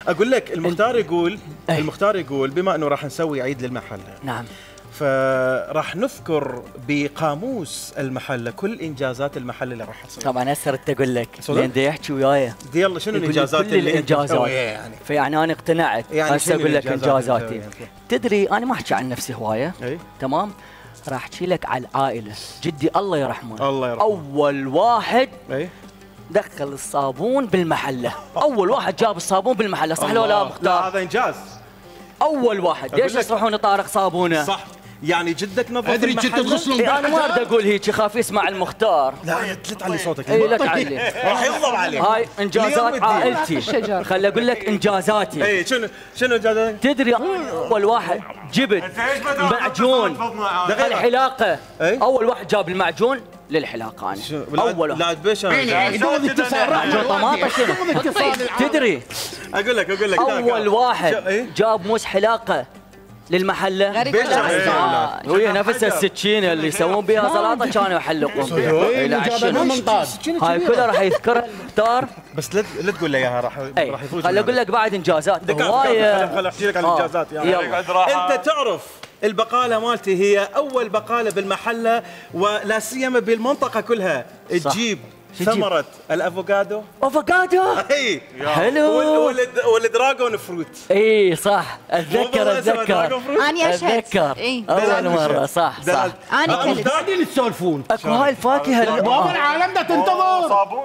اقول لك المختار يقول بما انه راح نسوي عيد للمحله. نعم. فراح نذكر بقاموس المحله كل انجازات المحله اللي راح تصير. طبعا هسه ردت اقول لك لان دا يحكي وياي. يلا شنو الانجازات اللي الانجازات يعني؟ فيعني انا اقتنعت. يعني هسه اقول لك انجازاتي. تدري انا ما احكي عن نفسي هوايه. تمام. راح احكي لك على العائله. جدي الله يرحمه. الله يرحمه. اول واحد دخل الصابون بالمحله. اول واحد جاب الصابون بالمحله، صح لو لا مختار؟ لا هذا انجاز. اول واحد. ليش يصرحون طارق صابونه؟ صح. يعني جدك نظف ادري كنت تغسلون. انا ما اريد اقول هيك، خاف يسمع المختار. لا لا تعلي صوتك. اي لك علي. راح يغضب عليك. هاي انجازات عائلتي. خلي اقول لك انجازاتي. اي شنو انجازاتك؟ تدري اول واحد جبت معجون الحلاقه. اول واحد جاب المعجون للحلاقه انا. اول واحد. لا تبيش معجون طماطه شنو؟ تدري اقول لك اول واحد جاب موس حلاقه للمحله. وهي نفس السكينه اللي يسوون بها سلطه كانوا يحلقون بها. هاي كلها راح يذكرها المختار. بس لا تقول لي اياها راح يفوز. خليني اقول لك بعد انجازات هوايه. خليني احكي لك عن الانجازات يعني. انت تعرف البقاله مالتي هي اول بقاله بالمحله ولا سيما بالمنطقه كلها تجيب ثمرة الافوكادو. افوكادو؟ اي حلو. والدراغون فروت. اي صح اتذكر. انا اتذكر اول مرة. صح انا كلت. قاعدين تسولفون اكو هاي الفاكهة بابا العالم ده تنتظر.